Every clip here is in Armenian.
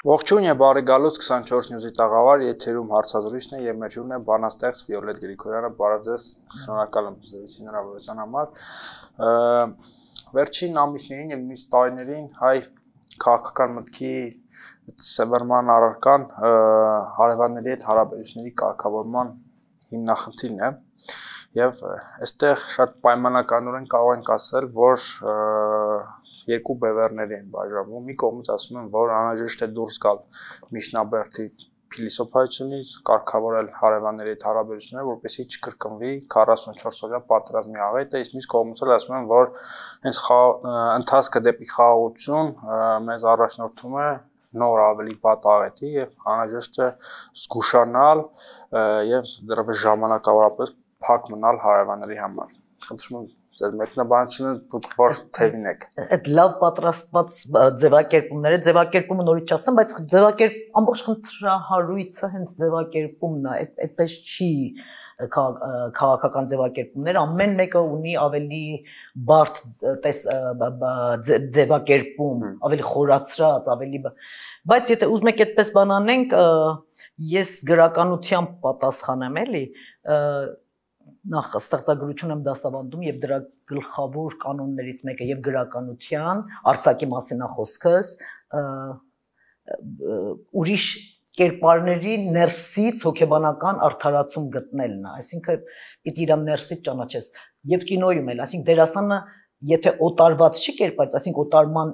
Ողջույն եւ բարի գալուստ 24 նյուզի տաղավար եթերում հարցազրույցն է եւ մեր հյուրն է բանաստեղծ Վիոլետ Գրիգորյանը, բարև ձեզ, շնորհակալ եմ զրույցի հնարավորության համար։ Վերջին ամիսներին եւ նույնիսկ տարիներին հայ քաղաքական մտքի սեվերման առարկան հարևանների հետ հարաբերությունների կարգավորման հիմնախնդիրն է եւ այստեղ շատ պայմանականորեն կարող ենք ասել, որ երկու բևեռների են բաժանվում։ Մի կողմից ասում են, որ անհրաժեշտ է դուրս գալ միջնաբերդի փիլիսոփայությունից, կարգավորել հարևանների հետ հարաբերությունները, որպեսզի չկրկնվի 44 օրյա պատերազմի աղետը, իսկ մյուս կողմից էլ ասում են, որ հենց ընթացքը դեպի խաղաղություն մեզ առաջնորդում է նոր ավելի վատ աղետի եւ անհրաժեշտ է զգուշանալ եւ դեռևս ժամանակավորապես փակ մնալ հարևանների համար։ Խնդրում եմ ձեր մեկնաբանությունը դուք որ թևին եք։ Այդ լավ պատրաստված ձևակերպումը նորից չասեմ, բայց ամբողջ խնդրահարույցը հենց ձևակերպումն է, այդպես չի քաղաքական ձևակերպումներ, ամեն մեկը ունի ավելի բարդ ձևակերպում, ավելի խորացրած, ավելի բայց եթե ուզում եք այդպես բան անենք, ես գրականությամբ պատասխանեմ էլի, նախ ստեղծագրություն եմ դասավանդում եւ դրա գլխավոր կանոններից մեկը եւ գրականության արձակի մասին է խոսքս ուրիշ կերպարների ներսից հոգեբանական արդարացում գտնելն է, այսինքն պիտի իրան ներսից ճանաչես եւ կինոյում էլ, այսինքն դերասանը եթե օտարված չի կերպարից, այսինքն օտարման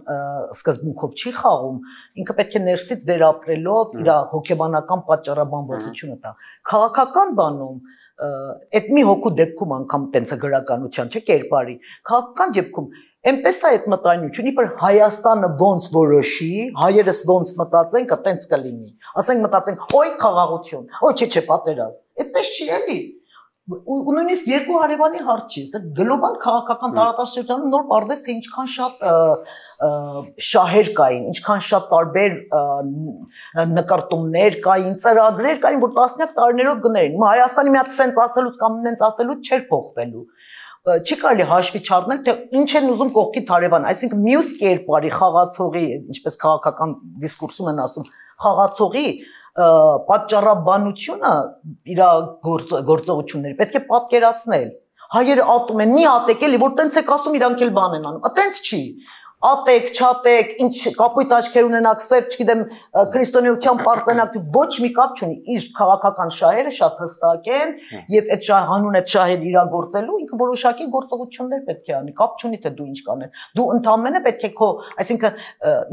սկզբունքով չի խաղում, ինքը պետք է ներսից վերապրելով իր հոգեբանական պատճառաբանվածությունը տա։ Քաղաքական բանում այդ մի հոգու դեպքում անգամ տենց է գրականության, չէ՞ կերպարի։ Քաղաքական դեպքում այնպես է այդ մտայնությունը, իբր Հայաստանը ոնց որոշի, հայերս ոնց մտածենք, տենց կլինի։ Ասենք մտածենք, օй խաղաղություն, օй չէ, պատերազմ։ Այդպես չի էլի։ Ու նույնիսկ երկու հարևանի հարց չի, դա գլոբալ քաղաքական տարածաշրջանում նոր պարզվեց, թե ինչքան շատ շահեր կային, ինչքան շատ տարբեր նկարտումներ կային, ծրագրեր կային, որ տասնյակ տարիներով գներ էին։ Հայաստանի մի հատ սենց ասելուց կամ նենց ասելուց չէր փոխվելու։ Չի կարելի հաշվի չառնել, թե ինչ են ուզում կողքի հարևան, այսինքն մյուս կերպարի խաղացողի, ինչպես քաղաքական դիսկուրսում են ասում, խաղացողի պատճառաբանությունը իր գործողությունների պետք է պատկերացնել։ Հայերը ատում են, մի ատեք էլի, որ տենց եք ասում, իրանք էլ բան են անում։ Տենց չի։ Ատեք, չատեք, ինչ կապույտ աչքեր ունենաք, սեր, չգիտեմ, քրիստոնեության պարծենակ, ոչ մի կապ չունի։ Իր քաղաքական շահերը շատ հստակ են, եւ այդ հանուն այդ շահերը իրագործելու ինքը որոշակի գործողություններ պետք է անի, կապ չունի թե դու ինչ կանես։ Դու ընդամենը պետք է քո, այսինքն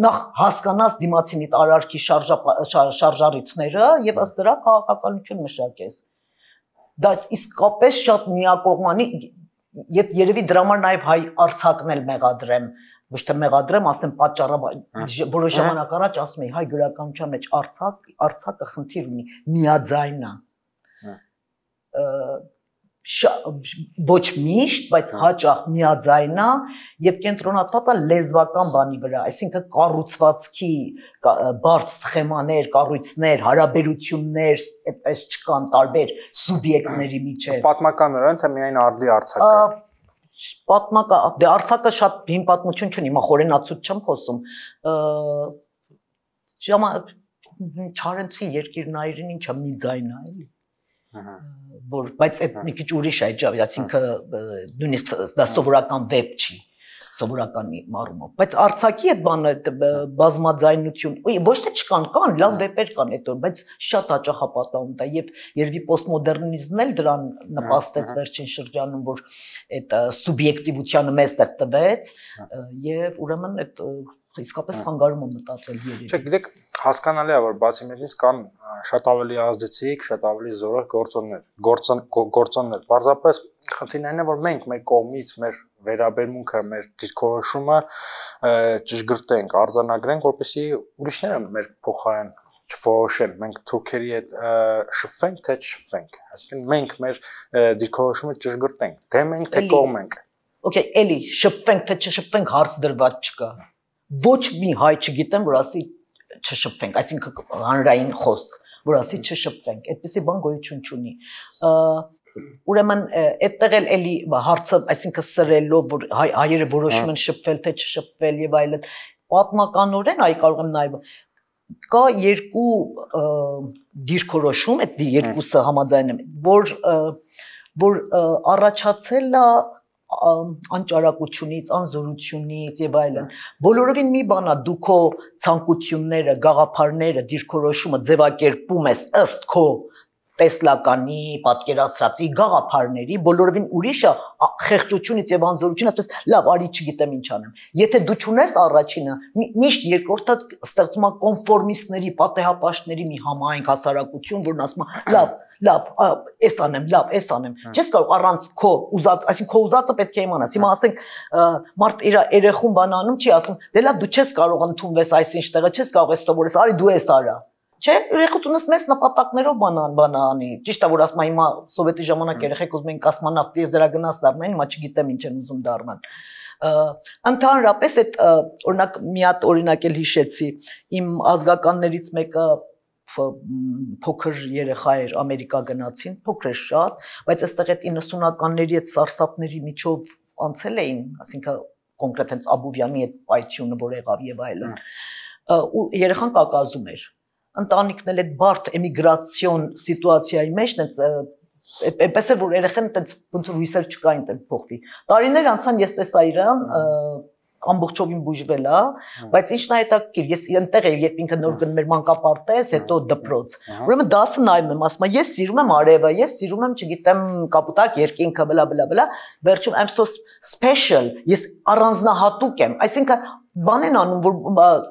նախ հասկանաս դիմացինի արարքի շարժառիթները եւ ըստ դրա քաղաքականություն մշակես։ Դա իսկապես շատ միակողմանի, երևի դրա համար նաեւ հայ արձակն էլ մեղադրեմ, ոչ թե մեղադրեմ, ասեմ որոշ ժամանակ առաջ ասում էի հայ գրականության մեջ արձակը խնդիր ունի, միաձայն է։ Ոչ միշտ, բայց հաճախ միաձայն է եւ կենտրոնացված է լեզվական բանի վրա, այսինքն կառուցվածքի բարդ սխեմաներ, կառույցներ, հարաբերություններ, այդպես չկան տարբեր սուբյեկտների միջեւ։ Պատմականորեն թե միայն արդի արձակը։ Դե արձակը շատ հին պատմություն չունի, հիմա խորենացուց չեմ խոսում։ Չարենցի երկիրնայրին ինչա մի ձայն է, էլի։ Բայց այդ մի քիչ ուրիշ է, այսինքն նույնիսկ դա սովորական վեբ չի, սովորական առումով, բայց արձակի այդ բանը բազմաձայնություն, ոչ թե չկան, կան, լավ վեպեր կան այդ որ, բայց շատ հաճախ է պատահում դա եւ երևի պոստմոդեռնիզմն էլ դրան նպաստեց վերջին շրջանում, որ այդ սուբյեկտիվությանը մեզ տեղ տվեց եւ ուրեմն այդ իսկապես խանգարում է մտածել երևի։ Չէ, գիտեք, հասկանալի է, որ բացի մեզնից կան շատ ավելի ազդեցիկ, շատ ավելի զորեղ գործոններ։ Պարզապես խնդիրն այն է, որ մենք մեր կողմից, մեր վերաբերմունքը, մեր դիրքորոշումը ճշգրտենք, արձանագրենք, որպեսզի ուրիշները մեր փոխարեն չորոշեն, մենք թուրքերի հետ շփվենք, թե չշփվենք։ Այսինքն մենք մեր դիրքորոշումը ճշգրտենք, թե մենք թե կողմ ենք։ Okay, էլի շփվենք, թե չշփվենք հարց դրված չկա։ Ոչ մի հայ չգիտեմ, որ ասի չշփվենք, այսինքն հանրային խոսք, որ ասի չշփվենք, այդպեսի բան գոյություն չունի։ Ուրեմն այդտեղ էլի հարցը, այսինքն սրելով, որ հայերը որոշում են շփվել թե չշփվել եւ այլն, պատմականորեն այ կարող եմ նաեւ կա երկու դիրքորոշում, այդ երկուսը համաձայն եմ, որ առաջացել է անճարակությունից, անզորությունից եւ այլն։ Բոլորովին մի բան է, դու քո ցանկությունները, գաղափարները, դիրքորոշումը ձևակերպում ես ըստ քո տեսլականի, պատկերացրածի, գաղափարների, բոլորովին ուրիշը խեղճությունից եւ անզորությունից, այսպես լավ, արի չգիտեմ ինչ անեմ։ Եթե դու չունես առաջինը, միշտ երկրորդը ստեղծում է կոնֆորմիստների, պատեհապաշտների մի համայնք հասարակություն, որն ասում է լավ, էս անեմ, լավ, էս անեմ։ Չես կարող առանց քո ուզած, այսինքն քո ուզածը պետք է իմանաս։ Հիմա ասենք մարդ իր երեխուն բան անում, չի ասում, դե լավ, դու չես կարող ընդունվես այս ինչ տեղը, չես կարող էս սովորես, արի դու էս արա։ Չէ, երեխությունս մեծ նպատակներով բան անի։ Ճիշտ է, որ ասում հիմա սովետի ժամանակ երեխեք ուզում են կոսմոնավտ տիեզերագնաց դառնան, հիմա չգիտեմ ինչ են ուզում դառնան։ Ընդհանրապես այդ օրինակ մի հատ օրինակ էլ հիշեցի, իմ ազգականներից մեկը փոքր երեխա էր, Ամերիկա գնացին, փոքր էր շատ, բայց այստեղ այդ 90-ականների այդ սարսափների միջով անցել էին, ասինքն կոնկրետ հենց Աբովյանի այդ պայթյունը, որ եղավ եւ այլն։ Ու երեխան կակազում էր։ Ընտանիքն էլ այդ բարդ էմիգրացիոն սիտուացիայի մեջ այնպես էր, որ երեխան այդպես ոնց որ հույսեր չկային այդպես փոխվի։ Տարիներ անցան, ես տեսա իրան, ամբողջովին բուժվել է, բայց ինչն է հետաքրքիր, ես այնտեղ եմ, երբ ինքը նոր գնում էր մանկապարտեզ, հետո դպրոց։ Ուրեմն դասը նայում եմ, ասում եմ, ես սիրում եմ արևը, ես սիրում եմ, չգիտեմ, կապուտակ երկինքը, բլա, վերջում I'm so special, ես առանձնահատուկ եմ, այսինքն բան են անում, որ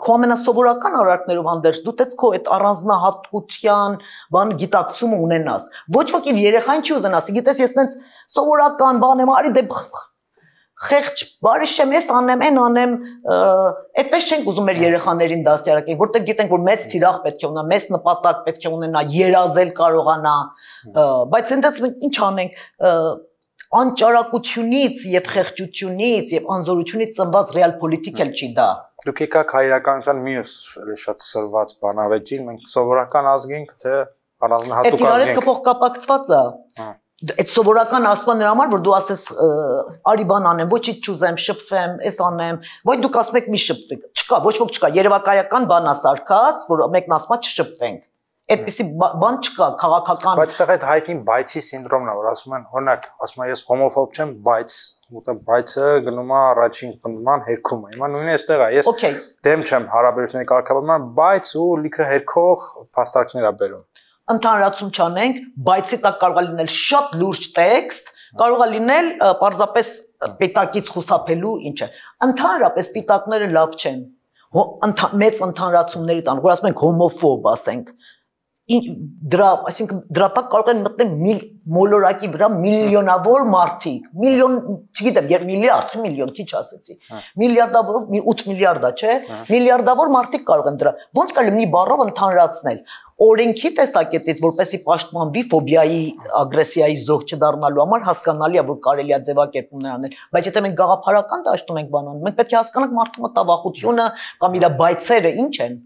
քո ամենասովորական արարքներով հանդերձ դու տես քո այդ առանձնահատկության բան գիտակցումը ունենաս։ Ոչ ոք իր երեխային չի ուզենա, գիտես ես տենց սովորական բան եմ, արի դե խեղճ բարիշ եմ, ես անեմ, այն անեմ, այդպես չենք ուզում մեր երեխաներին դաստիարակենք, որտեղ գիտենք, որ մեծ թիրախ պետք է ունենա, մեծ նպատակ պետք է ունենա, երազել կարողանա, բայց այնտեղ ինչ անենք, անճարակությունից եւ խեղճությունից եւ անզորությունից ծնված ռեալ պոլիտիկ էլ չի դա։ Դուք եկաք հայրականության մյուս շատ սրված բանավեճին, մենք սովորական ազգ ենք, թե առանձնահատուկ ազգ ենք։ Այդ փոխկապակցված է։ Այդ սովորական ասման նրա համար, որ դու ասես արի բան անեմ, ոչինչ չուզեմ, շփվեմ, էս անեմ, ոչ դուք ասում եք մի շփվեք։ Չկա, ոչ ոք չկա, երևակայական բան է սարքած, որ մեկն ասում է չշփվենք։ Այդպիսի բան չկա, քաղաքական։ Բայց այդտեղ այդ հայտնի բայցի սինդրոմն է, որ ասում են, օրինակ, ասում եմ ես հոմոֆոբ չեմ, բայց ուտը բայցը գնում է առաջին պնդման հերքում է։ Հիմա նույնը այստեղ է, ես դեմ չեմ հարաբերությունների կարգավորման, բայց ու լիքը հերքող փաստարկներ է բերում։ Ընդհանրացում չանենք, բայցի տակ կարող է լինել շատ լուրջ տեքստ, կարող է լինել պարզապես պիտակից խուսափելու ինչ է։ Ընդհանրապես պիտակները լավ չեն։ Մեծ ընդհանրացումների տան, որ ասում ենք հոմոֆոբ, ասենք, այսինքն դրա տակ կարող են մտնել մոլորակի վրա միլիոնավոր մարդիկ, միլիոն, չգիտեմ, միլիոն, քիչ ասեցի, միլիարդավոր, 8 միլիարդ է, չէ, միլիարդավոր մարդիկ կարող են դրա, ոնց կարելի մի բառով ընդհանրացնել, օրենքի տեսակետից, որպեսզի պաշտպանվի ֆոբիայի, ագրեսիայի զոհ չդառնալու համար հասկանալի է, որ կարելի է ձևակերպումներ անել, բայց եթե մենք գաղափարական դաշտում ենք բան անում, մենք պետք է հասկանանք մարդու մտավախությունը կամ իր բայցերը ինչ են։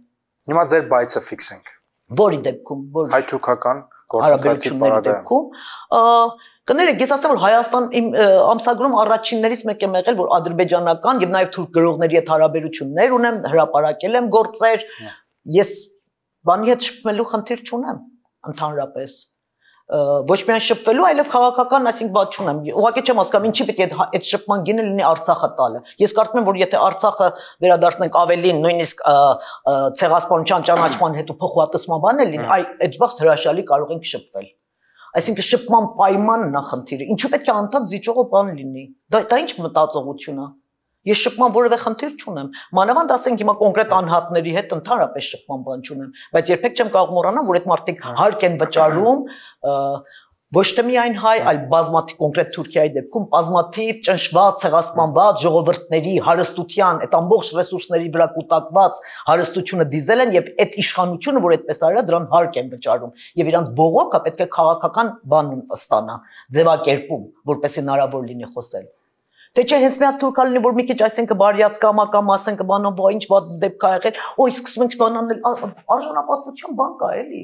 Հիմա ձեր բայցը ֆիքսենք։ Որի դեպքում, որ հայ-թուրքական գործընթացի պարագայում։ Կներեք, ես ասեմ, որ Հայաստան իմ ամսագրում առաջիններից մեկ եմ եղել, որ ադրբեջանական եւ նաեւ թուրք գրողների հետ հարաբերություններ ունեմ, հրապարակել եմ գործեր, ես բանի հետ շփվելու խնդիր չունեմ, ընդհանրապես։ Ոչ միայն շփվելու, այլև քաղաքական, այսինքն բաց չունեմ։ Ուղղակի չեմ հասկանում, ինչի պետք է այդ շփման գինը լինի Արցախը տալը։ Ես կարծում եմ, որ եթե Արցախը վերադարձնենք ավելին, նույնիսկ ցեղասպանության ճանաչման հետո փոխհատուցման բան է լինի, այդ վաղ հրաշալի կարող ենք շփվել։ Այսինքն շփման պայմանն է խնդիրը։ Ինչու պետք է անդադ զիջողը բան լինի։ Դա ինչ մտածողություն է։ Ես շփման որևէ խնդիր չունեմ։ Մանավանդ ասենք հիմա կոնկրետ անհատների հետ ընդհանրապես շփման բան չունեմ, բայց երբեք չեմ կարող մոռանալ, որ այդ մարդիկ հարկ են վճարում ոչ թե միայն հայ, այլ բազմաթիվ կոնկրետ Թուրքիայի դեպքում բազմաթիվ ճնշված, ցեղասպանված ժողովուրդների հարստության, այդ ամբողջ ռեսուրսների վրա կուտակված հարստությունը դիզել են եւ այդ իշխանությունը, որ այդպես արել, դրան հարկ են վճարում եւ իրանց բողոքը պետք է քաղաքական բան ստանա, ձևակերպում, որպեսզի հնարավոր լինի խոսել։ Թե չէ հենց մի հատ թուրքա լինի, որ մի քիչ այսինքն բարյաց կամ ասենք բանով ինչ վատ դեպք կա եղել, օ, սկսում ենք բան անել, արժանապատվություն բան կա էլի։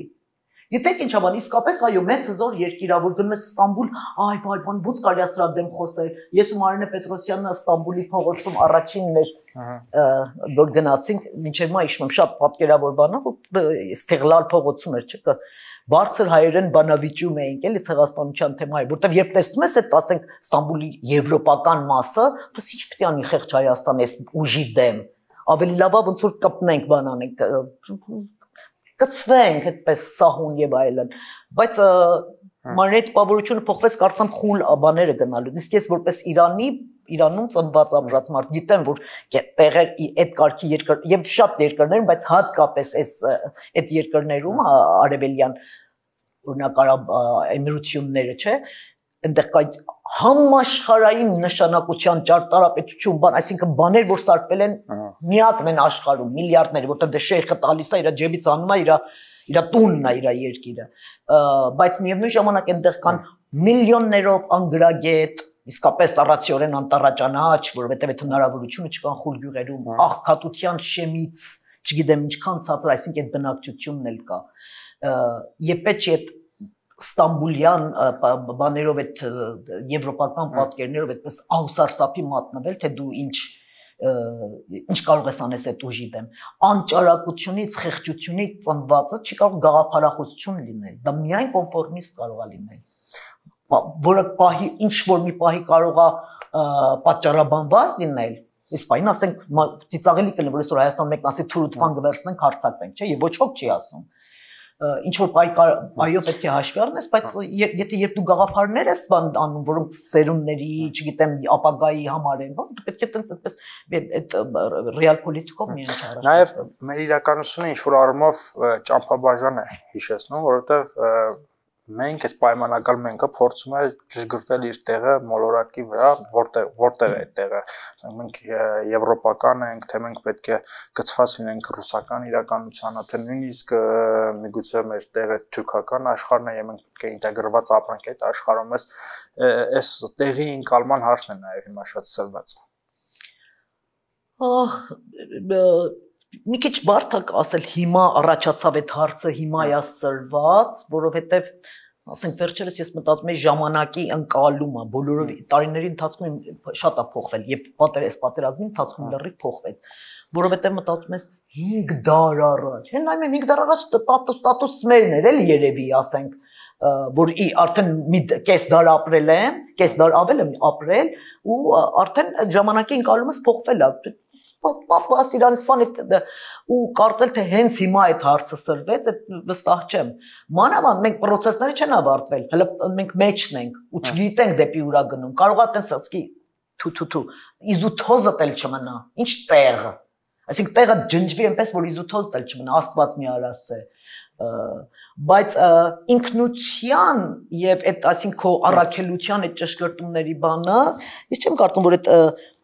Գիտեք ինչա բան, իսկապես այո, մեծ հզոր երկիր ա, որ գնում ես Ստամբուլ, այ վայ, բան ոնց կարելի է սրա դեմ խոսել։ Ես ու Մարինե Պետրոսյանը Ստամբուլի փողոցում առաջինն էր, որ գնացինք, մինչև հիմա հիշում եմ, շատ պատկերավոր բան ա, որ Ստեղլալ փողոցում էր, չէ՞, բարձր հայերեն բանավիճում էինք, էլի ցեղասպանության թեմայի, որտեվ երբ տեսնում ես այդ, ասենք, Ստամբուլի եվրոպական մասը, դες ինչ պետք է անի խեղճ Հայաստան այս ուժի դեմ, ավելի լավ է ոնց որ կպնենք բան անենք, կծվենք այդպես սահուն եւ այլն, բայց Մարինե տպավորությունը փոխվեց, կարծեմ խուլ բաները գնալու։ Իսկ ես որպես Իրանում ծնված ամրած մարդ գիտեմ, որ տեղեր այդ կարգի երկր եւ շատ երկրներում, բայց հատկապես այդ երկրներում արևելյան օրինակ էմիրությունները, չէ, այնտեղ կա համաշխարհային նշանակության ճարտարապետություն, բան, այսինքն բաներ, որ սարքվել են միակն են աշխարհում, միլիարդներ, որտեղ դե շեյխը տալիս է իր ջեբից անում է իր տունն է, իր երկիրը, բայց միևնույն ժամանակ այնտեղ կան միլիոններով անգրագետ, իսկապես տառացիորեն անտառաճանաչ, որովհետև այդ հնարավորությունը չկան խուլ գյուղերում, աղքատության շեմից, չգիտեմ ինչքան ցածր, այսինքն այդ բնակչությունն էլ կա, եւ պետք է Ստամբուլյան բաներով այդ եվրոպական պատկերներով այդպես ահուսարսափի մատնվել, թե դու ինչ կարող ես անես այդ ուժի դեմ, անճարակությունից, խեղճությունից ծնվածը չի կարող գաղափարախոսություն լինել, դա միայն կոնֆորմիստ կարող է լինել, որը ինչ որ մի պահի կարող է պատճառաբանված լինել, իսկ պահին ասենք ծիծաղելի կլինի, որ այսօր Հայաստան մեկն ասի թուրուտվան գվերցնենք, հարձակվենք, չէ, եւ ոչ ոք չի ասում ինչ որ այո պետք է հաշվի առնես, բայց եթե երբ դու գաղափարներ ես բան անում, որոնք սերունդների, չգիտեմ, ապագայի համար են, դու պետք է այդպես այդ ռեալ պոլիտիկով միայն չառաջի։ Նաև մեր իրականությունը ինչ որ առումով ճամփաբաժան է հիշեցնում, որովհետև մենք այս պայմանական մենքը փորձում է ճշգրտել իր տեղը մոլորակի վրա, որտեղ է այդ տեղը։ Մենք եվրոպական ենք, թե մենք պետք է գծված լինենք ռուսական իրականությանը, թե նույնիսկ միգուցե մեր տեղը թուրքական աշխարհն է, եւ մենք պետք է ինտեգրված ապրենք այդ աշխարհում, այս տեղի ընկալման հարցն է նաեւ հիմա շատ սրված։ Մի քիչ բարդ է ասել հիմա առաջացավ այդ հարցը, հիմա է սրված, որովհետև ասենք վերջերս ես մտածում եմ ժամանակի ընկալումը, բոլորով տարիների ընթացքում շատ է փոխվել եւ պատերազմի ընթացքում լրիվ փոխվեց, որովհետև մտածում ես 5 դար առաջ, հեն նայում եմ 5 դար առաջ ստատուսը մերն էր էլի երևի, ասենք, որ արդեն կես դար ապրել եմ, կես դար ավել եմ ապրել ու արդեն ժամանակի ընկալումս փոխվել է Պապաս Իրանստան ու կարծել թե հենց հիմա այդ հարցը սրվեց, վստահ չեմ։ Մանավանդ մենք process-ները չեն ավարտվել, հələ մենք մեջն ենք ու չգիտենք դեպի ուրա գնում։ Կարող է տեսածքի թու իզութոզը տել չմնա։ Ինչ տեղը։ Այսինքն տեղը ջնջվի այնպես, որ իզութոզ տել չմնա, Աստված մի արասե։ Բայց ինքնության եւ այդ այսինքն քո առաքելության այդ ճշգրտումների բանը, ես չեմ կարծում որ այդ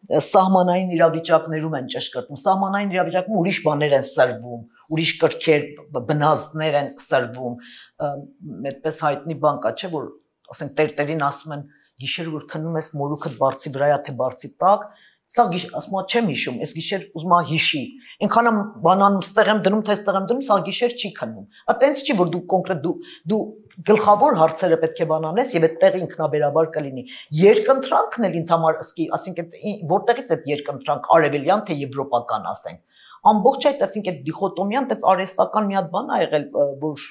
սահմանային իրավիճակներում են ճշգրտում, սահմանային իրավիճակում ուրիշ բաներ են սրվում, ուրիշ կրքեր, բնազդներ են սրվում, այդպես հայտնի բան կա, չէ՞ որ ասենք տերտերին ասում են գիշեր որ քնում ես մորուքդ բարձի վրա է թե բարձի տակ, սա ասում եմ չեմ հիշում, այս գիշեր ուզում եմ հիշի, այնքան եմ բանանում ստեղ եմ դնում, թե ստեղ եմ դնում, սա գիշեր չի քնում, այտենց չի որ դու կոնկրետ դու գլխավոր հարցերը պետք է բանանես եւ այդտեղ ինքնաբերաբար կլինի։ Երկընտրանքն էլ ինձ համար ասինքն որտեղից այդ երկընտրանք արևելյան թե եվրոպական ասենք։ Ամբողջ այդ ասինքն այդ դիխոտոմիան դից արհեստական մի հատ բան ա եղել, որ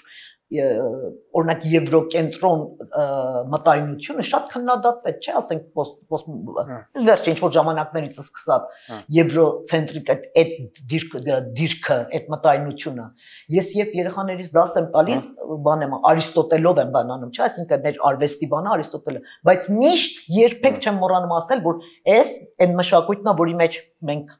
օրինակ եվրոկենտրոն մտայնությունը շատ քննադատվեց, չէ՞, ասենք վերջին ինչ որ ժամանակներից սկսած եվրոցենտրիկ այդ դիրքը, այդ մտայնությունը։ Ես երբ երեխաներից դաս եմ տալի, բան եմ Արիստոտելով եմ բանանում, չէ՞, այսինքն մեր արվեստի բանը Արիստոտելը, բայց միշտ երբեք չեմ մոռանում ասել, որ այս այն մշակույթն է, որի մեջ մենք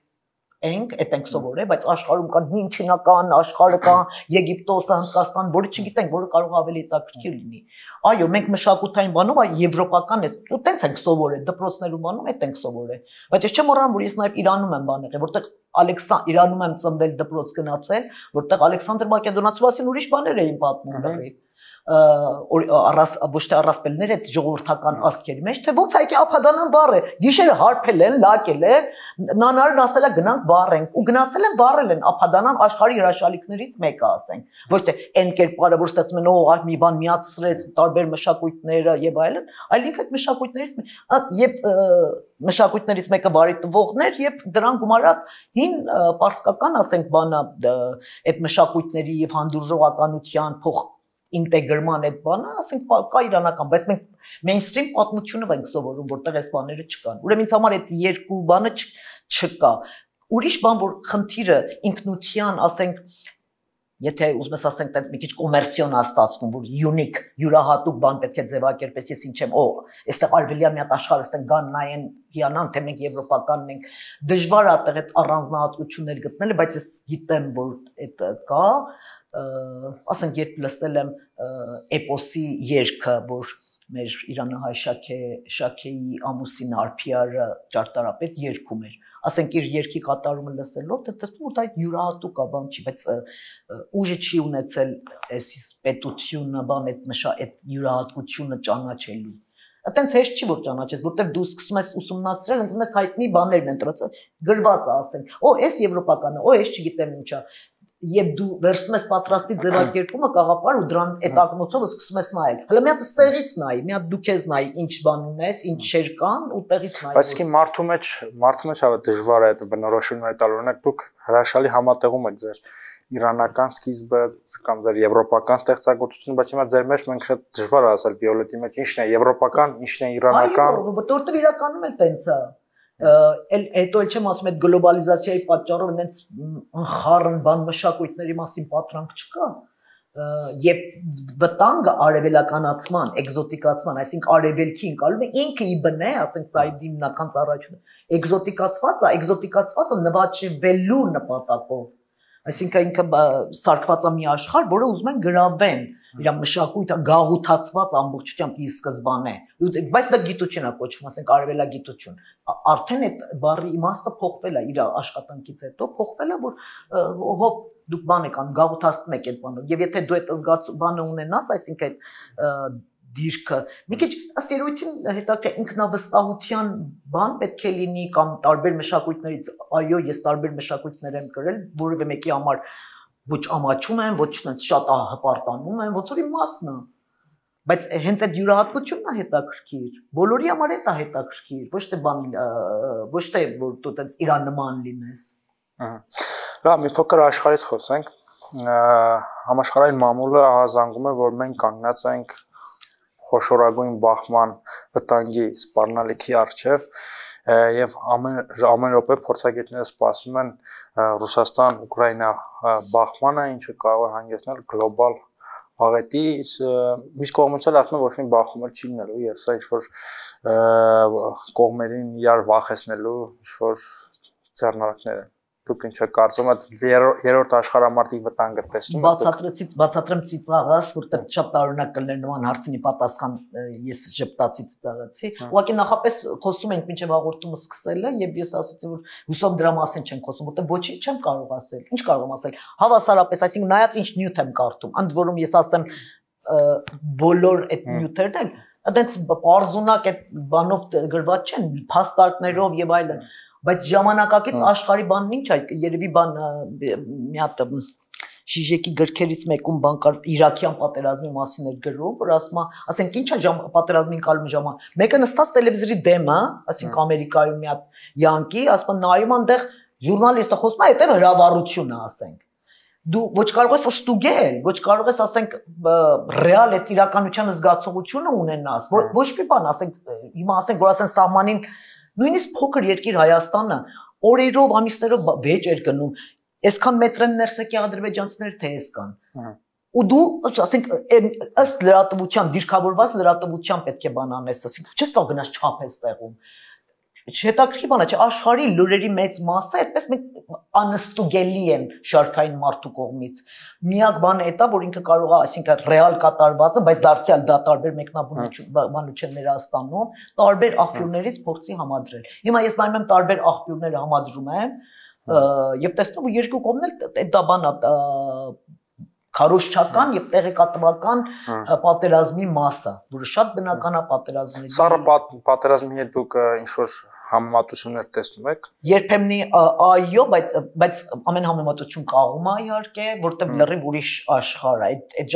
ենք սովորել, բայց աշխարհում կան հին չինական, աշխարհը կա Եգիպտոսը, Հնդկաստան, որը չգիտենք, որը կարող է ավելի հետաքրքիր լինի։ Այո, մենք մշակութային բանով եվրոպական է, ու տենց ենք սովորել, դպրոցներում բանում այդ ենք սովորել։ Բայց ես չեմ մոռանում, որ ես նաև Իրանում եմ բան եղել, որտեղ Իրանում եմ ծնվել, դպրոց գնացել, որտեղ Ալեքսանդր Մակեդոնացու մասին ուրիշ բաներ էին պատմում լրիվ։ ոչ թե առասպելներ այդ ժողովրդական ասքերի մեջ, թե ոնց այդի ափադանան վառ է, գիշերը հարբել են, լակել են, նանարն ասել է գնանք վառենք, ու գնացել են վառել են ափադանան աշխարհի հրաշալիքներից մեկը ասենք, ոչ թե այն կերպարը, որ ստացվում են, օ, մի բան միացրեց տարբեր մշակույթները եւ այլն, այլ ինքը այդ մշակույթներից մեկը վարի տվողներ եւ դրան գումարած հին պարսկական, ասենք, բանա այդ մշակույթների եւ հանդուրժողականության փոխ ինտեգրման այդ բանը, ասենք, կա իրանական, բայց մենք mainstream պատմությունը ենք սովորում, որտեղ այս բաները չկան։ Ուրեմն ինձ համար այդ երկու բանը չկա։ Ուրիշ բան, որ խնդիրը ինքնության, ասենք, եթե ուզում ես ասենք, տենց մի քիչ կոմերցիոն է ստացվում, որ unique, յուրահատուկ բան պետք է ձևակերպես, ես ինչ եմ, օ, այստեղ արվելիա մի հատ աշխարհ, այստեղ գան նայեն, հիանան, թե մենք եվրոպականն ենք, դժվար է այդտեղ այդ առանձնահատկություններ գտնելը, բայց ես գիտեմ, որ այդ կա, ասենք, երբ լսել եմ էպոսի երգը, որ մեր իրանահայ Շաքեի ամուսին Արփիարը ճարտարապետ երգում էր, ասենք, իր երգի կատարումը լսելով, դա տեսնում որ դա յուրահատուկ է, բան չի, բայց ուժը չի ունեցել այս պետությունը, բան այդ յուրահատկությունը ճանաչելու։ Այտենց հեշտ չի որ ճանաչես, որտեղ դու սկսում ես ուսումնասիրել, ընկնում ես հայտնի բաներն են դրած, գրված է, ասենք, օ, էս եվրոպական է, օ, էս չգիտեմ ինչա։ Եվ դու վերցնում ես պատրաստի ձևակերպումը կաղապար ու դրան այդ ակնոցով սկսում ես նայել։ Հələ մի հատ ստեղից նայի, մի հատ դու քեզ նայի, ինչ բան ունես, ինչ չեր կան ու տեղից նայի։ Բայց ի մարդու մեջ հավը դժվար է այդ բնորոշումները տալ, օրինակ դուք հրաշալի համատեղում եք ձեր իրանական սկիզբը կամ ձեր եվրոպական ստեղծագործությունը, բայց հիմա ձեր մեջ մենք շատ դժվար է ասել Վիոլետի մեջ ինչն է եվրոպական, ինչն է իրանական։ Այո, որտեղ իրականում էլ տենց է։ Հետո էլ չեմ ասում այդ գլոբալիզացիայի պատճառով այնց անխառն բան մշակույթների մասին պատրանք չկա եւ վտանգը արևելականացման, էկզոտիկացման, այսինքն արևելքի ընկալում է ինքը ի բնե, ասենք սա հիմնական ծառայությունը, էկզոտիկացվածը նվաճվելու նպատակով, այսինքն ինքը սարքված է մի աշխարհ, որը ուզում են գրավեն, իր մշակույթը գաղութացված ամբողջությամբ ի սկզբանե, բայց դա գիտություն է կոչվում, ասենք արևելագիտություն, արդեն այդ բառի իմաստը փոխվել է իր աշխատանքից հետո, փոխվել է, որ հոп դուք բան եք անում, գաղութացնում եք այդ բանը, եւ եթե դու այդ զգացումը ունենաս, այսինքն այդ դիրքը, մի քիչ ըստ երևույթին հետաքրքիր ինքնավստահության բան պետք է լինի կամ տարբեր մշակույթներից, այո, ես տարբեր մշակույթներ եմ գրել, որևէ մեկի համար ոչ ամաչում եմ, ոչ շատ հպարտանում եմ, ոնց որ իմ մասն է, բայց հենց այդ յուրահատկությունն է հետաքրքիր, բոլորի համար է դա հետաքրքիր, ոչ թե բան, ոչ թե որ դու տենց իրանման լինես։ Լավ, մի փոքր աշխարհից խոսենք, համաշխարհային մամուլը ահազանգում է, որ մենք կանգնած ենք խոշորագույն բախման վտանգի սպառնալիքի առջև եւ ամեն րոպե փորձագետները սպասում են Ռուսաստան-Ուկրաինա բախմանը, ինչը կարող է հանգեցնել գլոբալ աղետի, մյուս կողմից էլ ասում են ոչ մի բախում էլ չի լինելու եւ սա ինչ-որ կողմերին իրար վախեցնելու ինչ-որ ձեռնարկներ են։ Դուք ինչ եք կարծում եք երրորդ աշխարհամարտի վտանգը տեսնում եք։ Բացատրեմ ծիծաղս, որտեղ շատ տարօրինակ կլներ նման հարցինի պատասխան ես ժպտացի ծիծաղացի։ Ուղղակի նախապես խոսում ենք մինչև հաղորդումը սկսելը եւ ես ասացի որ հուսով դրա մասին չենք խոսում, որտեղ ոչինչ չեմ կարող ասել։ Ինչ կարող եմ ասել։ Հավասարապես, այսինքն նայած ինչ նյութ եմ կարդում, ընդ որում ես ասեմ բոլոր այդ նյութերն են, այդպես պարզունակ այդ բանով գրված չեն, փաստարկներով եւ այլն։ Բայց ժամանակակից աշխարհի բանն ինչ է, երևի բան մի հատ Շիժեկի գրքերից մեկում բան կար Իրաքյան պատերազմի մասին էր գրում, որ ասում է, ասենք ինչ է պատերազմին կալում ժամանակ։ Մեկը նստած տելևիզորի դեմ է, ասենք Ամերիկայում մի հատ յանկի, ասում է նայում այնտեղ ժուրնալիստը խոսում է, այդտեղ հրավառություն է, ասենք։ Դու ոչ կարող ես ստուգել, ոչ կարող ես ասենք ռեալ այդ իրականության զգացողությունը ունենաս, ոչ մի բան, ասենք հիմա ասենք որ ասեն սահմանին նույնիսկ փոքր երկիր Հայաստանը օրերով, ամիսներով վեճ էր գնում, այսքան մետրեն ներս եկի ադրբեջանցիները թե էս կան։ Ու դու, ասենք, ըստ լրատվության, դիրքավորված լրատվության պետք է բան անես, ասենք, չես կարող գնաս չափես տեղում։ Հետաքրքիր բան է, չէ, աշխարհի լուրերի մեծ մասը այդպես անստուգելի են շարքային մարդու կողմից։ Միակ բանը է, որ ինքը կարող է, այսինքն ռեալ կատարվածը, բայց դարձյալ դա տարբեր մեկնաբանություններ ստանում, տարբեր աղբյուրներից փորձի համադրել։ Հիմա ես նայում եմ տարբեր աղբյուրները համադրում եմ եւ տեսնում ու երկու կողմն էլ դա բանա քարոզչական եւ տեղեկատվական պատերազմի մասը, որը շատ բնական է պատերազմների։ Սառը պատերազմի հետ դուք ինչ որ համեմատություններ տեսնում եք։ Երբեմն այո, բայց ամեն համեմատություն կաղում է իհարկե, որտեղ լրիվ ուրիշ աշխարհ է։ Այդ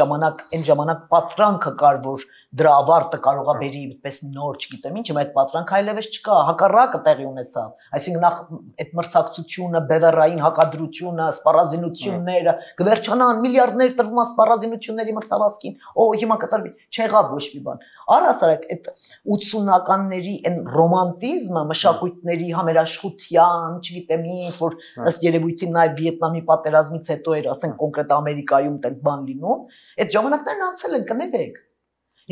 ժամանակ պատրանքը կար, որ դրա ավարտը կարողա բերի այդպես նոր, չգիտեմ ինչ, այդ պատրանքը այլևս չկա, հակառակը տեղի ունեցավ։ Այսինքն նախ այդ մրցակցությունը, բևեռային հակադրությունը, սպառազինությունները կվերջանան միլիարդներ տրվում սպառազինությունների մրցավազքին։ Հիմա կտրվի, չեղավ ոչ մի բան։ Առհասարակ այդ 80-ականների այն ռոմանտիզմը, մշակույթների համերաշխության, չգիտեմ ինչ, որ ըստ երևույթին նաև Վիետնամի պատերազմից հետո էր, ասենք կոնկրետ Ամերիկայում տենց բան լինում, այդ ժամանակներն անցել են, կներեք։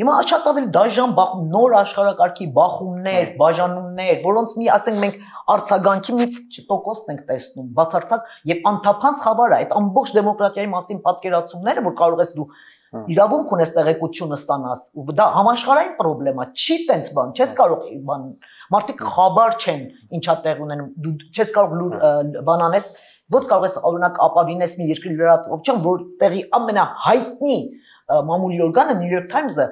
Հիմա շատ ավելի դաժան բախում, նոր աշխարհակարգի բախումներ, բաժանումներ, որոնց մի ասենք մենք արձագանքի մի տոկոսն ենք տեսնում, բացարձակ եւ անթափանց խավար է, այդ ամբողջ դեմոկրատիայի մասին պատկերացումները, որ կարող ես դու իրավունք ունես տեղեկությունը ստանաս, ու դա համաշխարհային խնդրեմ է, չի տենց բան, չես կարող բան, մարդիկ խաբար չեն, ինչա տեղ ունենում, դու չես կարող բան անես, ոնց կարող ես օրինակ ապավինես մի երկրի լրատվություն, որտեղի ամենահայտնի մամուլի օրգանը New York Times-ը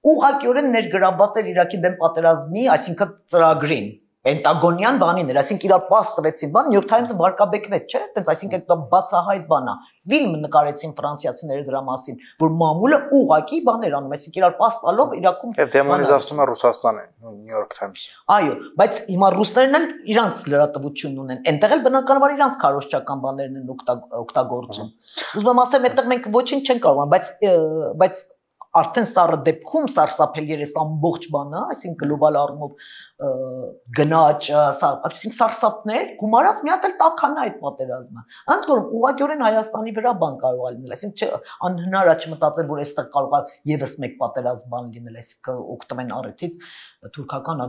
ուղղակիորեն ներգրավված էր Իրաքի դեմ պատերազմի, այսինքն ծրագրին, պենտագոնյան բանին էր, այսինքն իրար պաս տվեցին բան, New York Times-ը վարկաբեկվեց, չէ՞, այտենց, այսինքն դա բացահայտ բան է։ Ֆիլմ նկարեցին ֆրանսիացիները դրա մասին, որ մամուլը ուղղակի բաներ անում, այսինքն իրար պաս տալով Իրաքում դեմոնիզացնում է Ռուսաստանը, New York Times-ը։ Այո, բայց հիմա ռուսներն էլ իրանց լրատվությունն ունեն, այնտեղ էլ բնականաբար իրանց քարոզչական բաներն են օգտագործում։ Ուզում եմ ասեմ, այդտեղ մենք ոչինչ չենք կարող, բայց արդեն սառը դեպքում սարսափելի էր այս ամբողջ բանը, այսինքն գլոբալ առումով գնաճը, այսինքն սարսափներ, գումարած մի հատ էլ տաքանա այդ պատերազմը։ Ընդ որում ուղղակիորեն Հայաստանի վրա բան կարող է լինել, այսինքն անհնար է չմտածել, որ այստեղ կարող է եւս մեկ պատերազմ բան լինել, այսինքն օգտվեն առիթից թուրքական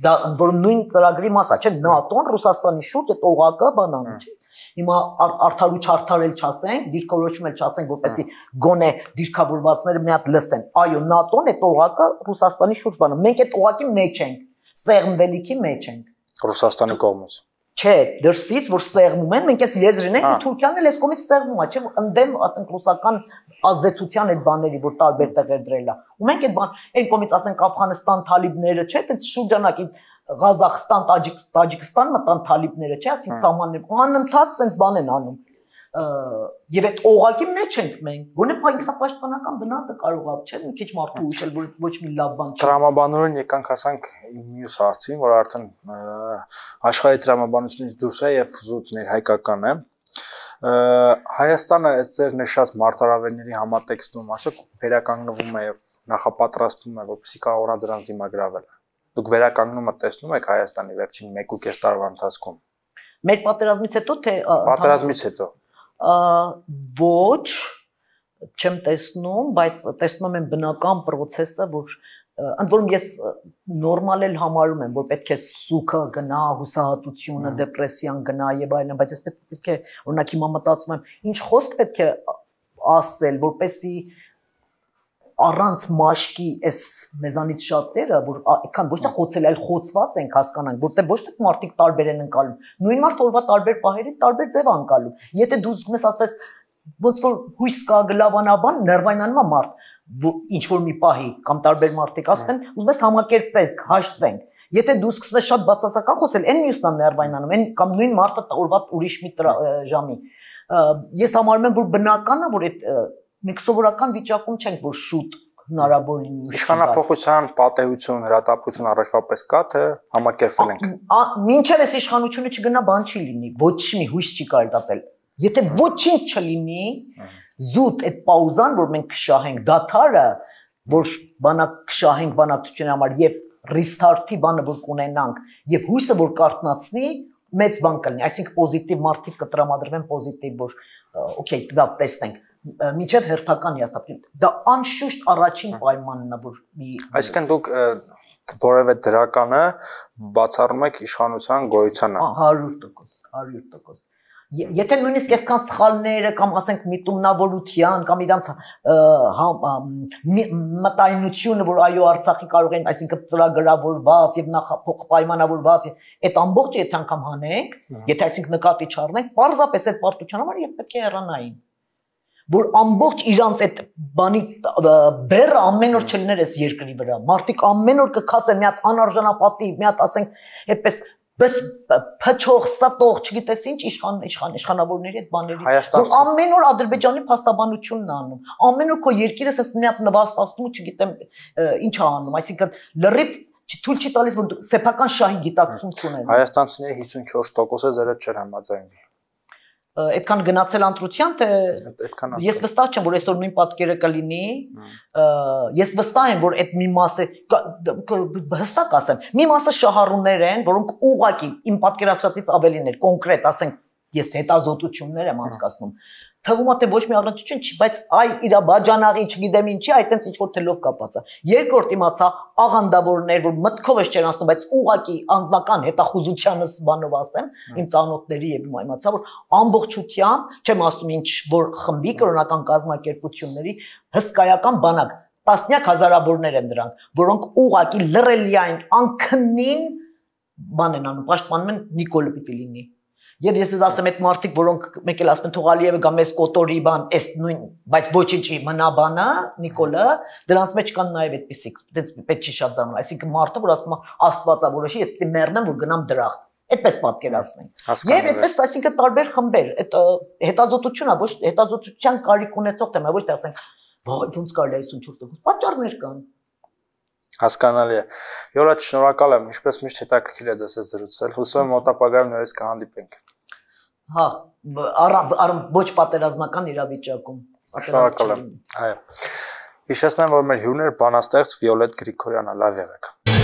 դա ընդ որում նույն ծրագրի մասա, չէ՞, ՆԱՏՕ-ն Ռուսաստանի շուրջ այդ օղակը բանանում, չէ՞։ Հիմա արդար ու չարդար էլ չասենք, դիրքորոշում էլ չասենք, որպեսզի գոնե դիրքավորվածները մի հատ լսեն։ Այո, ՆԱՏՕ-ն այդ օղակը Ռուսաստանի շուրջ բանում։ Մենք այդ օղակի մեջ ենք, սեղմվելիքի մեջ ենք։ Ռուսաստանի կողմից։ Չէ, դրսից որ սեղմում են, մենք էս եզրին ենք, Թուրքիան էլ էս կողմից սեղմում է, չէ՞, ընդդեմ, ասենք, ռուսական ազդեցության այդ բաների, որ տարբեր տեղեր դրել է։ Ու մենք այդ բան, այն կողմից ասենք Աֆղանստան թալիբները, չէ՞, այդպես շրջանակի Ղազախստան, Տաջիկստան մտան թալիբները, չէ՞, ասենք սահմաններ, անընդհատ sense բան են անում։ Եվ այդ օղակի մեջ ենք մենք։ Գոնե ինքնապաշտպանական վնասը կարող է, չէ՞, մի քիչ մարդու ուշել, որ ոչ մի լավ բան չի։ Տրամաբանորեն եկանք ասանք մյուս հարցին, որ արդեն աշխարհի տրամաբանությունից դուրս է եւ զուտ ներհայկական է։ Հայաստանը ձեր նշած մարտահրավերների համատեքստում ասեք վերականգնվում է եւ նախապատրաստվում է, որպեսզի կարողանա դրանց դիմագրավել։ Դուք վերականգնումը տեսնում եք Հայաստանի վերջին 1.5 տարվա ընթացքում։ Մեր պատերազմից հետո թե պատերազմից հետո։ Ոչ, չեմ տեսնում, բայց տեսնում եմ բնական process-ը, որ ընդ որում ես նորմալ էլ համարում եմ, որ պետք է սուքը գնա, հուսահատությունը, դեպրեսիան գնա եւ այլն, բայց ես պետք է օրինակ հիմա մտածում եմ, ինչ խոսք պետք է ասել, որպեսզի առանց մաշկի էս մեզանից շատերը, որ այքան ոչ թե խոցել, այլ խոցված ենք հասկանանք, որտեղ ոչ թե մարդիկ տարբեր են անցալում, նույն մարդ օրվա տարբեր պահերին տարբեր ձև անցալում։ Եթե դու զգում ես ասես ոնց որ հույս կա գլավանաբան, ներվայնանում է մարդ, ինչ որ մի պահի կամ տարբեր մարդիկ ասեն, ուզում ես համակերպենք, հաշտվենք։ Եթե դու սկսում ես շատ բացասական խոսել, այն մյուսն է ներվայնանում, այն կամ նույն մարդը օրվա ուրիշ մի ժամի։ Ես համարում եմ, որ բնական է, որ այդ մենք սովորական վիճակում չենք, որ շուտ հնարավոր լինի։ Իշխանափոխության պատեհություն, հրատապություն առաջվա պես կա, թե համակերպվել ենք։ Մինչև այս իշխանությունը չգնա, բան չի լինի, ոչ մի հույս չի կարելի տածել։ Եթե ոչինչ չլինի, զուտ այդ պաուզան, որ մենք կշահենք դաթարը, որ բանակ կշահենք բանակցության համար եւ restart-ի բանը որ կունենանք եւ հույսը որ կարթնացնի, մեծ բան կլինի, այսինքն պոզիտիվ մարդիկ կտրամադրվեն պոզիտիվ, որ օքեյ, դա տեսնենք։ Միջև հերթական հիասթափություն։ Դա անշուշտ առաջին պայմանն է, որ մի այսինքն դուք որևէ դրականը բացառում եք իշխանության գոյությանը։ 100%։ Եթե նույնիսկ այսքան սխալները կամ ասենք միտումնավորության կամ իրանց մտայնությունը, որ այո Արցախի կարող են, այսինքն ծրագրավորված եւ նախափոխ պայմանավորված, այդ ամբողջը եթե անգամ հանենք, եթե այսինքն նկատի չառնենք, պարզապես այդ պարտության համար եւ պետք է հեռանային։ որ ամբողջ իրանց այդ բանի բերը ամեն օր չլներ այս երկրի վրա։ Մարդիկ ամեն օր կքացեն մի հատ անարժանապատիվ, մի հատ ասենք այդպես բս փչող, սատող, չգիտես ինչ իշխանավորների այդ բաների, որ ամեն օր Ադրբեջանի փաստաբանությունն է անում։ Ամեն օր քո երկիրս էս մի հատ նվաստացնում ու չգիտեմ ինչ է անում, այսինքն լրիվ թույլ չի տալիս որ սեփական շահի գիտակցություն չունեն։ Հայաստանցիների 54%-ը ձերը չէր համաձայնվի։ Այդքան գնացել ընտրության թե ես վստահ չեմ որ այսօր նույն պատկերը կլինի ես վստահ եմ որ այդ մի մասը հստակ ասեմ մի մասը շահառուներ են որոնք ուղղակի իմ պատկերացրածից ավելին էր կոնկրետ ասենք ես հետազոտություններ եմ անցկացնում թվում է թե ոչ մի առնչություն չի բայց այ իր բաժանաղի չգիտեմ ինչի այտենց ինչ որ թելով կապված է երկրորդ իմացա աղանդավորներ որ մտքով ես չեն ասում բայց ուղղակի անձնական հետախուզությանս բանով ասեմ իմ ծանոթների եւ իմացա որ ամբողջությամբ չեմ ասում ինչ որ խմբի կրոնական կազմակերպությունների հսկայական բանակ տասնյակ հազարավորներ են դրանք որոնք ուղղակի լրելիային անքնին բան են անում պաշտպանում են Նիկոլը պիտի լինի Եվ ես ասեմ այդ մարդիկ, որոնք մեկ էլ ասում են թող Ալիևը գա մեզ կոտորի բան, այս նույն, բայց ոչինչի մնա բանը, Նիկոլը, դրանց մեջ կան նաև այդպիսիք, դից պետք չի շատ զարմանալ, այսինքն մարդը, որ ասում է Աստվածա որոշի, ես պիտի մեռնեմ, որ գնամ դրախտ, այդպես պատկերացնենք։ Եվ այդպես, այսինքն տարբեր խմբեր, այդ հետազոտությունը ոչ հետազոտության կարիք ունեցող թեմա, ոչ թե ասենք, վայ, ոնց կարելի է 54%, պատճառներ կան։ Հասկանալի է։ Յոլա, շնորհակալ եմ, ինչպես միշտ հետաքրքիր է ձեզ հետ զրուցել։ Հուսով եմ մոտապագայում նորից կհանդիպենք։ Հա, ոչ պատերազմական իրավիճակում։ Շնորհակալ եմ։ Այո։ Հիշեցնեմ, որ մեր հյուրն էր բանաստեղծ Վիոլետ Գրիգորյանը, լավ եղեք։